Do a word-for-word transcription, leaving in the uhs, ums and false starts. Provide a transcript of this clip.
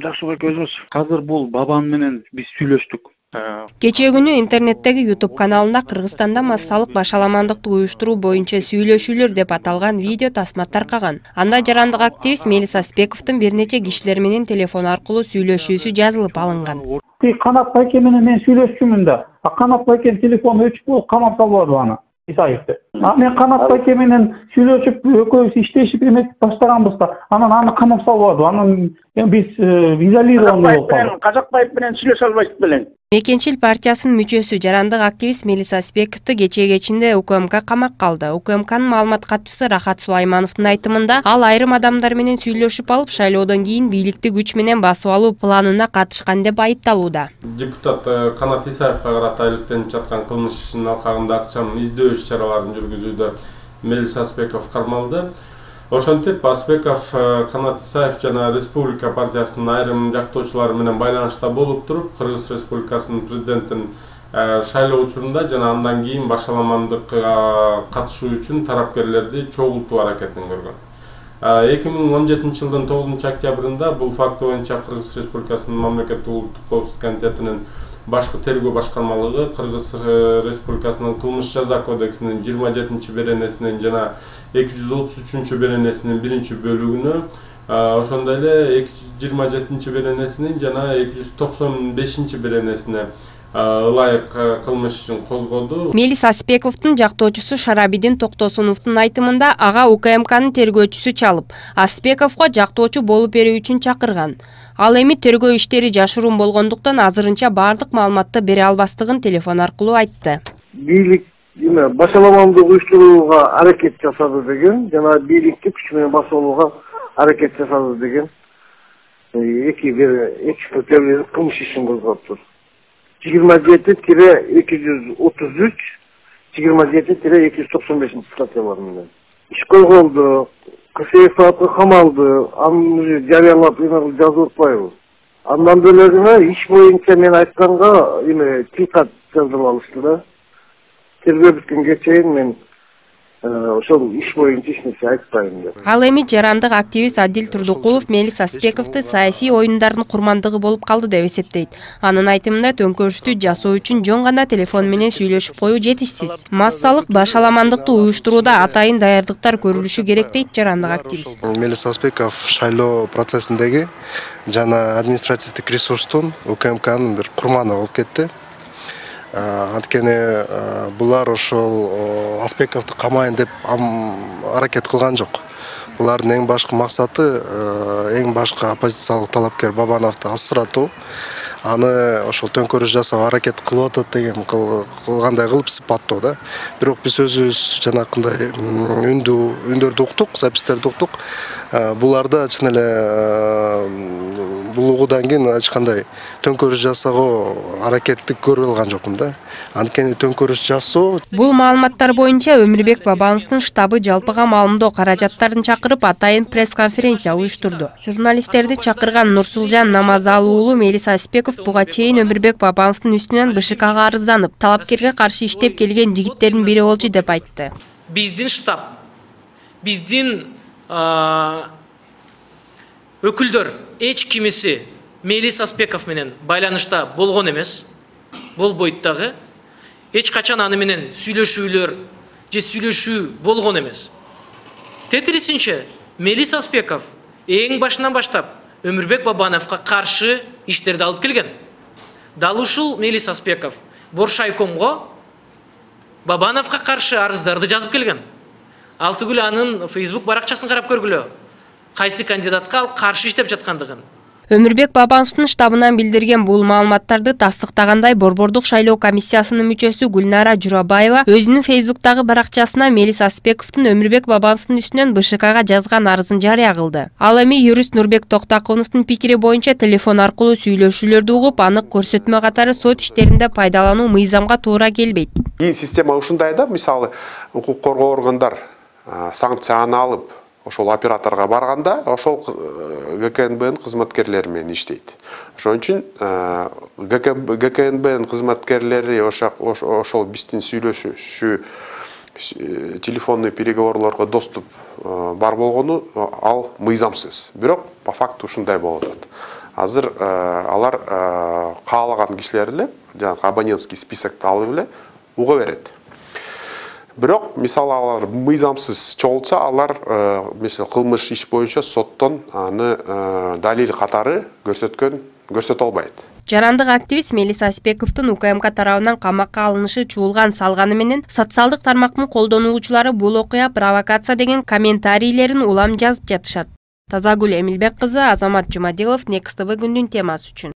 Жакшыбек өзүңүз? Азыр бул бабам менен биз сүйлөштүк. Кечээ күнү интернеттеги YouTube каналында Кыргызстанда массалык башаламандыкты уюштуруу боюнча сүйлөшүүлөр деп аталган видео тасма таркаган. Анда жарандык активист Мелис Аспековдун бир нече кишилер менен телефон аркылуу сүйлөшүүсү жазылып алынган. Канат байке менен мен сүйлөшчүмүн да. А Канат байкенин телефону өчүп болуп камап салбады аны. Исаевди. А мен Канат байке менен сүйлөшүп экөөбүз иштешип эметип баштаганбызда, анан аны камап салбады. Анан биз изолированы болуп калдык. Казакбаев менен сүйлөшө албайсыз белең. Мекенчил партиясынын мүчөсү жарандык активист Мелис Аспековду кечээ кечинде УКМК камакка алды. УКМКнын маалымат катчысы Рахат Сулаймановдун айтымында, ал айрым адамдар менен сүйлөшүп алып, шайлоодон кийин бийликти күч менен басып алуу планына катышкан деп айыпталууда. Депутат Канат Исаевга карата иликтенип жаткан кылмыш ишинин алкагында акчам издөө иш чараларын жүргүзүүдө Мелис Аспеков кармалды. Ошентип Аспеков Канат Исаев жана Республика партиясынын айрым жактоочулары менен байланышта болуп туруп, Кыргыз Республикасынын президентин шайлоо учурунда жана андан кийин башаламандыкка катышуу үчүн тарапкерлерди чогултуу аракетин көргөн. эки миң он жетинчи жылдын тогузунчу октябрында бул факт боюнча Кыргыз Республикасынын мамлекеттик улуттук коопсуздук комитетинин башкы тергөө башкармалыгы Кыргыз Республикасынын кылмыш жаза кодексинин жыйырма жетинчи беренесинин жана эки жүз отуз үчүнчү беренесинин биринчи бөлүгүнө, ошондой эле жыйырма жетинчи беренесинин жана эки жүз токсон бешинчи беренесине ылайык кылмыш ишин козгоду. Мелис Аспековдун жактоочусу Шарабидин Токтосуновдун айтымында, ага УКМКнын тергөөчүсү чалып, Аспековго жактоочу болуп берүү үчүн чакырган. Ал эми тергөө иштери жашыруун болгондуктан азырынча баардык маалыматты бере албастыгын телефон аркылуу айтты. Бийлик башаламандык уюштурууга аракет жасады деген, жана бийликти күч менен басып алууга аракет жасады деген эки бир эки кылмыш ишин козгоптур. жыйырма жети эки жүз отуз үч, жыйырма жети эки жүз токсон бешинчи статьялар менен иш козголду. Кырсыев саатка камалды, аны жарыялап жазып атпайбыз. Андан бөлөгүнө иш боюнча мен айтканга эме тилкат жазып алышты да. Тергөө бүткөнгө чейин мен ошол иш боюнча эч нерсе айтпайм деп. Ал эми жарандык активист Адил Турдукулов Мелис Аспековду саясий оюндардын курмандыгы болуп калды деп эсептейт. Анын айтымында төңкөрүштү жасоо үчүн жөн гана телефон менен сүйлөшүп коюу жетишсиз. Массалык башаламандыкты уюштурууда атайын даярдыктар көрүлүшү керек дейт жарандык активист. Мелис Аспеков шайлоо процессиндеги жана административдик ресурстун УКМКнын бир курманы болуп кетти. Анткени булар ошол Аспековду камайын деп аракет кылган жок. Булардын эң башкы максаты эң башкы оппозициялык талапкер Бабановду асыратуу. Аны ошол төңкөрүш жасап аракет кылып атат деген кылгандай кылып сыпаттоо да. Бирок биз өзүбүз жанакындай үндү үндөрдү уктук, запистерди уктук. Буларда чын эле бул угуудан кийин эч кандай төңкөрүш жасоого аракетти көрүп алган жокмун да. Анткени төңкөрүш жасоо. Бул маалыматтар боюнча Өмүрбек Бабановдун штабы жалпыга маалымдоо каражаттарын чакырып атайын пресс-конференция уюштурду. Журналисттерди чакырган Нурсулжан Намазалы уулу Мелис Аспеков буга чейин Өмүрбек Бабановдун үстүнөн БШКга арызданып, талапкерге каршы иштеп келген жигиттердин бири болчу деп айтты. Биздин штаб, биздин өкүлдөр эч кимиси Мелис Аспеков менен байланышта болгон эмес. Болбойт дагы. Эч качан аны менен сүйлөшүүлөр же сүйлөшүү болгон эмес. Тетирисинче Мелис Аспеков эң башынан баштап Өмүрбек Бабановго каршы иштерди алып келген. Дал ушул Мелис Аспеков Боршайкомго Бабановго каршы арыздарды жазып келген. Ал түгүл анын Facebook баракчасын карап көргүлө. Кайсы кандидатка ал каршы иштеп жаткандыгын. Өмүрбек Бабановдун штабынан билдирген бул маалыматтарды тастыктагандай Борбордук шайлоо комиссиясынын мүчөсү Гүлнара Журабаева өзүнүн Фейсбуктагы баракчасына Мелис Аспековдун Өмүрбек Бабановдун үстүнөн БШКга жазган арызын жарыя кылды. Ал эми юрист Нурбек Токтакуновдун пикири боюнча телефон аркылуу сүйлөшүүлөрдү угуп, анык көрсөтмө катары сот иштеринде пайдалануу мыйзамга туура келбейт. Кийин система ушундай да, мисалы укук коргоо органдар санкцияны алып ошол операторго барганда, ошол ГКНБнын кызматкерлери менен иштейт. Ошон үчүн ГКНБнын кызматкерлери ошол биздин сүйлөшүү телефонный переговорлорго доступ бар болгону ал мыйзамсыз. Бирок по факту ушундай болуп атат. азыр алар каалаган кишилер эле жанагы абонентский списокто алып эле уга берет. Бирок мисалы алар мыйзамсыз чогултса, алар мисалы кылмыш иш боюнча соттон аны далил катары көрсөткөн көрсөтө албайт. Жарандык активист Мелис Аспековдун УКМК тарабынан камакка алынышы чуулган салганы менен социалдык тармактын колдонуучулары бул окуя провокация деген комментарийлерин улам жазып жатышат. Тазагүл Эмилбек кызы, Азамат Жумадилов, Next тэ вэ күндүн темасы үчүн.